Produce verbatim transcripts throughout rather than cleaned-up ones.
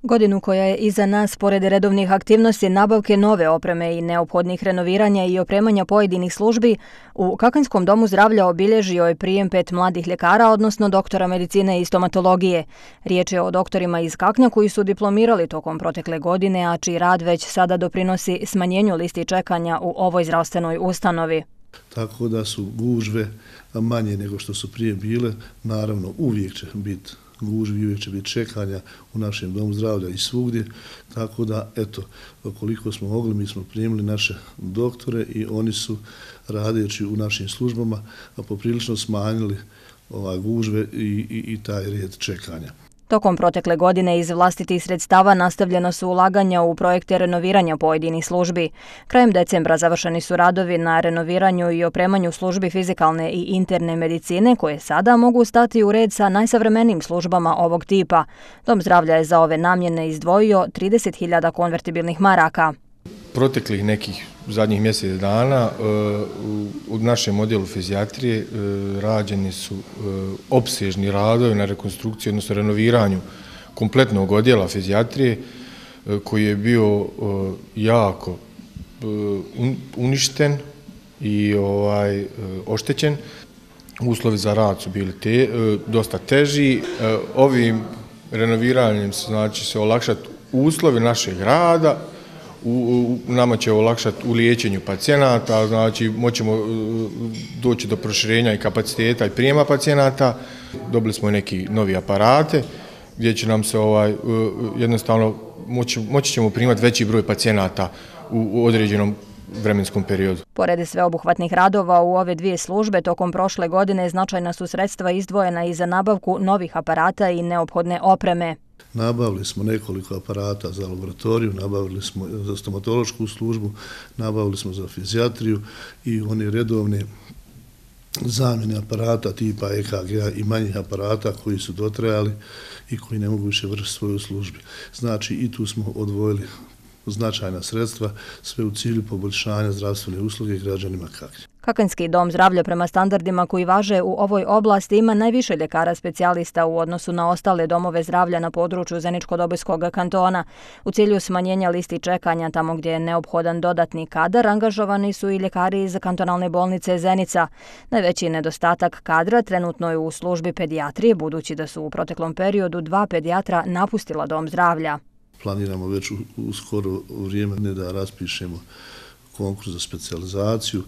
Godinu koja je iza nas, pored redovnih aktivnosti nabavke nove opreme i neophodnih renoviranja i opremanja pojedinih službi, u Kakanskom domu zdravlja obilježio je prijem pet mladih ljekara, odnosno doktora medicine i stomatologije. Riječ je o doktorima iz Kaknja koji su diplomirali tokom protekle godine, a čiji rad već sada doprinosi smanjenju listi čekanja u ovoj zdravstvenoj ustanovi. Tako da su gužve manje nego što su prije bile. Naravno, uvijek će biti gužvi, uvijek će biti čekanja u našem domu zdravlja i svugdje. Tako da, eto, koliko smo mogli, mi smo primili naše doktore i oni su, radeći u našim službama, poprilično smanjili ova gužve i, i, i taj red čekanja. Tokom protekle godine iz vlastitih sredstava nastavljena su ulaganja u projekte renoviranja pojedinih službi. Krajem decembra završeni su radovi na renoviranju i opremanju službi fizikalne i interne medicine koje sada mogu stati u red sa najsavremenijim službama ovog tipa. Dom zdravlja je za ove namjene izdvojio trideset hiljada konvertibilnih maraka. Proteklih nekih zadnjih mjesec dana u našem odjelu fizijatrije rađeni su opsežni radovi na rekonstrukciju, odnosno renoviranju kompletnog odjela fizijatrije koji je bio jako uništen i ovaj oštećen. Uslovi za rad su bili te, dosta teži. Ovim renoviranjem znači se olakšati uslovi našeg rada. U, u, nama će olakšati u liječenju pacijenata, znači moćemo doći do proširenja i kapaciteta i prijema pacijenata. Dobili smo i neki novi aparate gdje će nam se ovaj, jednostavno moći, moći ćemo primati veći broj pacijenata u, u određenom vremenskom periodu. Pored sveobuhvatnih radova u ove dvije službe, tokom prošle godine značajna su sredstva izdvojena i za nabavku novih aparata i neophodne opreme. Nabavili smo nekoliko aparata za laboratoriju, nabavili smo za stomatološku službu, nabavili smo za fizijatriju i one redovne zamjene aparata tipa E K G-a i manjih aparata koji su dotrajali i koji ne mogu više vršiti svoju službu. Znači i tu smo odvojili značajna sredstva, sve u cilju poboljšanja zdravstvene usluge građanima Kaknja. Kakanjski dom zdravlja prema standardima koji važe u ovoj oblasti ima najviše ljekara specijalista u odnosu na ostale domove zdravlja na području Zeničko-Dobojskog kantona. U cilju smanjenja listi čekanja tamo gdje je neophodan dodatni kadar, angažovani su i ljekari iz kantonalne bolnice Zenica. Najveći nedostatak kadra trenutno je u službi pedijatrije, budući da su u proteklom periodu dva pedijatra napustila dom zdravlja. Planiramo već u, u skoro vrijeme ne da raspišemo konkurs za specijalizaciju.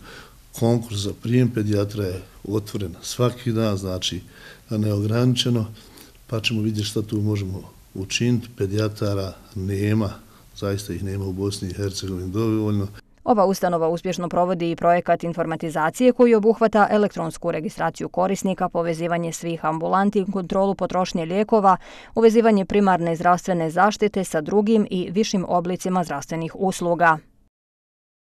Konkurs za prijem pedijatra je otvoren svaki dan, znači neograničeno, pa ćemo vidjeti šta tu možemo učiniti. Pedijatara nema, zaista ih nema u Bosni i Hercegovini dovoljno. Ova ustanova uspješno provodi i projekat informatizacije koji obuhvata elektronsku registraciju korisnika, povezivanje svih ambulanti, kontrolu potrošnje lijekova, uvezivanje primarne zdravstvene zaštite sa drugim i višim oblicima zdravstvenih usluga.